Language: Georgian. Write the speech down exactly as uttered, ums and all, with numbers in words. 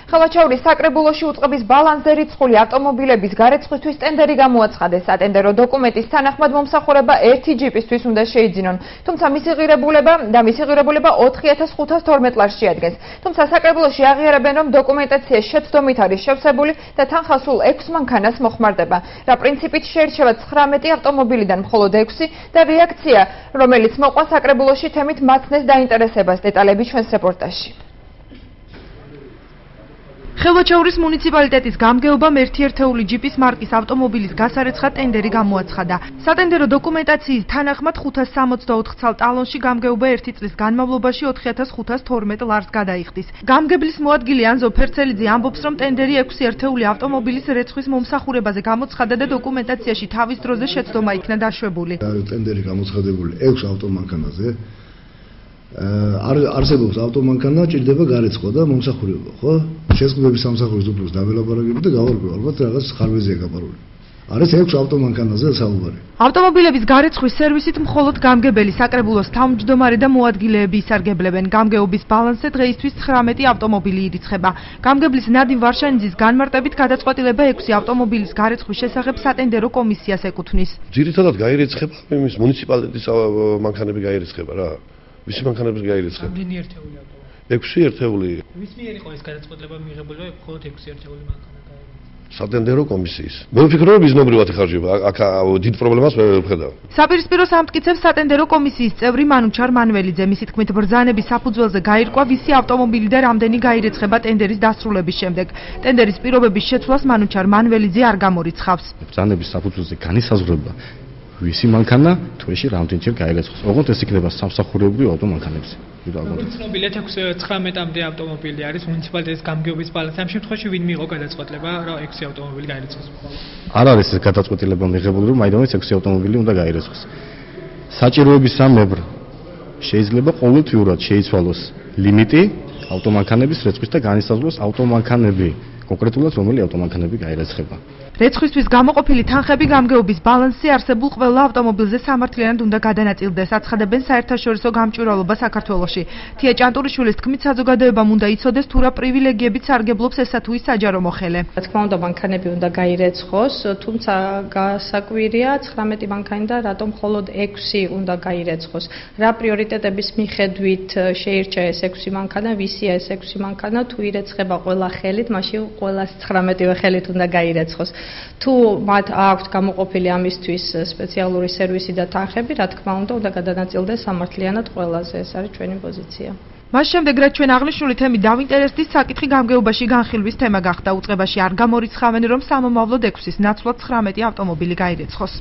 ხელვაჩაურის საკრებულოში უწყების ბალანსზე რიცხული ავტომობილების გარეცხვისთვის ტენდერი გამოაცხადეს. სატენდერო დოკუმენტის თანახმად მომსახურება ერთი ჯიპისთვის უნდა შეიძინონ, თუმცა მისი ღირებულება და მისი ღირებულება ოთხი ათას ხუთას თორმეტ ლარს შეადგენს. თუმცა საკრებულოში აღიარებენ, რომ დოკუმენტაცია შეცდომით არის შევსებული და თანხა სულ ექვს მანქანას მოხმარდება. რა პრინციპით შეირჩევა ცხრამეტი ავტომობილიდან მხოლოდ ექვსი და რეაქცია, რომელიც მოყვა საკრებულოში თემით მაცნეს დაინტერესებას. დეტალები ჩვენს რეპორტაჟში. ხელვაჩაურის მუნიციპალიტეტის გამგეობამ ერთი ერთეული ჯიპის მარკის ავტომობილის გასარეცხად ტენდერი გამოაცხადა. სატენდერო დოკუმენტაციის თანახმად ხუთას სამოცდაოთხ ცალ ტალონში გამგეობა ერთი წლის განმავლობაში ოთხი ათას ხუთას თორმეტ ლარს გადაიხდის. გამგებლის მოადგილე ანზო ფერცელიძე ამბობს, რომ ტენდერი ექვსი ერთეული ავტომობილის რეცხვის მომსახურებაზე გამოცხადა და დოკუმენტაციაში თავის დროზე შეცდომა იქნა დაშვებული. ტენდერი გამოცხადებული ექვს ავტომანქანაზე. არსებობს ავტომანქანა, ჭირდება გარეცხვა და მომსახურება, ხო? შეზღუდვების სამსახურის უფლოს დაველაპარაკები და გავარკვევ, ალბათ რაღაც ხარვეზია გაპარული. არის ექვს ავტომანქანაზე საუბარი. ავტომობილების გარეცხვის სერვისით მხოლოდ გამგებელი, საკრებულოს თავმჯდომარე და მოადგილეები ისარგებლებენ. გამგეობის ბალანსზე დღეისთვის ცხრამეტი ავტომობილი ირიცხება. გამგებლის ნადიმ ვარშანიძის განმარტებით გადაწყვეტილება ექვსი ავტომობილის გარეცხვის შესახებ სატენდერო კომისიას ეკუთვნის. ძირითადად გაირიცხება იმის მუნიციპალიტეტის მანქანები გაირიცხება რა. ვისი მანქანების გაირიცხება? რამდენი ერთეული ავტომობილი? ექვსი ერთეული. ვის მიერ იყო ეს გადაწყვეტილება მიღებული, რომ მხოლოდ ექვსი ერთეული მანქანა გაირიცხება? სატენდერო კომისიის. მე ვფიქრობ, რომ მიზნობრივად იხარჯება. აქ დიდ პრობლემას მე ვერ ვხედავ. საპირისპირო სამტკიცებს სატენდერო კომისიის წევრი მანუჩარ მანველიძე. მისი თქმით, ბრძანების საფუძველზე გაირკვა ვისი ავტომობილი და რამდენი გაირიცხება ტენდერის დასრულების შემდეგ. ტენდერის პირობების შეცვლას მანუჩარ მანველიძე არ გამორიცხავს. ბრძანების საფუძველზე განისაზღვრება ვისი მანქანა თვეში რამდენჯერ გაირიცხავს. ოღონდ ეს იქნება სამსახურებრივი ავტომანქანებზე. ცნობილია ცხრამეტამდე ავტომობილი არის მუნიციპალიტეტის გამგეობის ბალანსი. ამ შემთხვევაში ვინ მიიღო გადაწყვეტილება, რომ ექვსი ავტომობილი გაირიცხოს? არ არის ეს გადაწყვეტილება მიღებული, რომ მაინც ექვსი ავტომობილი უნდა გაირიცხოს. საჭიროების სამებრ შეიძლება ყოველთვიურად შეიცვალოს ლიმიტი ავტომანქანების რეცხვის და განისაზღვროს ავტომანქანები, კონკრეტულად რომელი ავტომანქანები გაირიცხება. რეცხვისთვის გამოყოფილი თანხები გამგეობის ბალანსზე არსებულ ყველა ავტომობილზე სამართლიანად უნდა გადანაწილდეს, აცხადებენ საერთაშორისო გამჭვირვალობა საქართველოში. თია ჭანტურიშვილის თქმით, საზოგადოებამ უნდა იცოდეს თუ რა პრივილეგიებით სარგებლობს ესა თუ ის საჯარო მოხელე. რა თქმა უნდა, მანქანები უნდა გაირეცხოს, თუმცა გასაკვირია ცხრამეტი მანქანიდან რატომ მხოლოდ ექვსი უნდა გაირეცხოს. რა პრიორიტეტების მიხედვით შეირჩა ეს ექვსი მანქანა, ვისია ეს ექვსი მანქანა, თუ ირეცხება ყველა ხელით, მაშინ ყველას ცხრამეტივე ხელით უნდა გაირეცხოს. თუ მათ აქვთ გამოყოფილი ამისთვის სპეციალური სერვისი და თანხები, რა თქმა უნდა, უნდა გადანაწილდეს სამართლიანად ყველაზე. ეს არის ჩვენი პოზიცია. მას შემდეგ, რაც ჩვენ აღნიშნული თემით დავინტერესდით, საკითხი გამგეობაში განხილვის თემა გახდა. უწყებაში არ გამორიცხავენ, რომ სამომავლოდ ექვსის ნაცვლად ცხრამეტი ავტომობილი გაირიცხოს.